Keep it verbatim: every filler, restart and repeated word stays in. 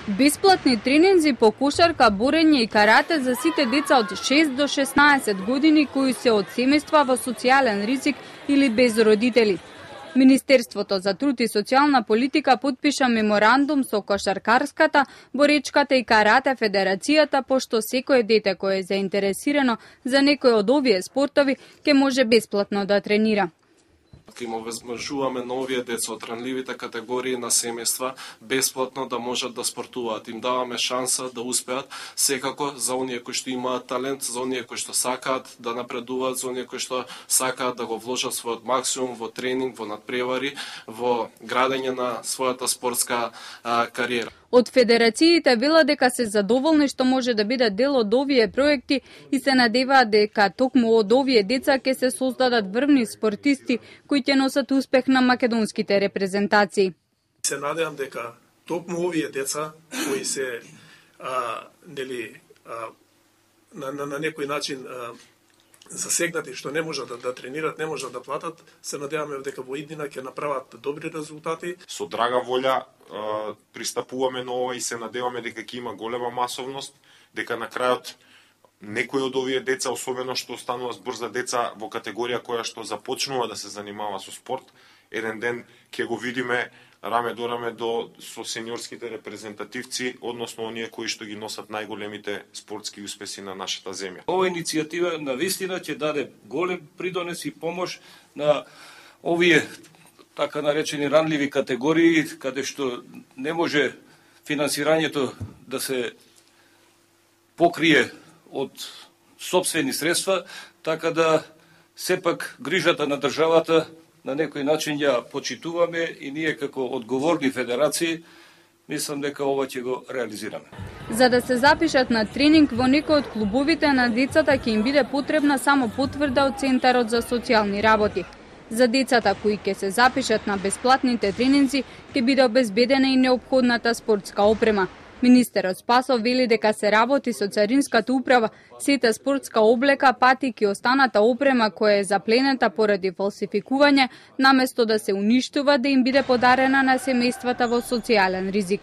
Бесплатни тренинзи по кошарка, борење и карате за сите деца од шест до шеснаесет години кои се од семејства во социјален ризик или без родители. Министерството за труд и социјална политика потпиша меморандум со кошаркарската, боречката и карате федерацијата, пошто секое дете кое е заинтересирано за некој од овие спортови ќе може бесплатно да тренира. Ке им овозможуваме на овие деца од ранливите категории на семејства бесплатно да можат да спортуваат. Им даваме шанса да успеат, секако за оние кои што имаат талент, за оние кои што сакаат да напредуваат, за оние кои што сакаат да го вложат својот максимум во тренинг, во надпревари, во градење на својата спортска а, кариера. Од федерациите велат дека се задоволни што може да бидат дел од овие проекти и се надеваат дека токму од овие деца ќе се создадат врвни спортисти кои ќе носат успех на македонските репрезентации. Се надевам дека токму овие деца кои се а, нели а, на, на, на некој начин а, засегнати што не можат да, да тренират, не можат да платат, се надеваме дека во иднина ќе направат добри резултати. Со драга волја а, пристапуваме на ова и се надеваме дека ќе има голема масовност, дека на крајот некои од овие деца, особено што останува збор за деца во категорија која што започнува да се занимава со спорт, еден ден ќе го видиме раме до раме до со сениорските репрезентативци, односно оние кои што ги носат најголемите спортски успеси на нашата земја. Ова иницијатива навистина ќе даде голем придонес и помош на овие така наречени ранливи категории, каде што не може финансирањето да се покрие од сопствени средства, така да сепак грижата на државата на некој начин ја почитуваме и ние како одговорни федерации мислам дека ова ќе го реализираме. За да се запишат на тренинг во некој од клубовите на децата ќе им биде потребна само потврда од Центарот за социјални работи. За децата кои ќе се запишат на бесплатните тренинзи ќе биде обезбедена и неопходната спортска опрема. Министерот Спасов вели дека се работи со Царинската управа, сета спортска облека, патики и останата опрема која е запленета поради фалсификување, наместо да се уништува, да им биде подарена на семејствата во социјален ризик.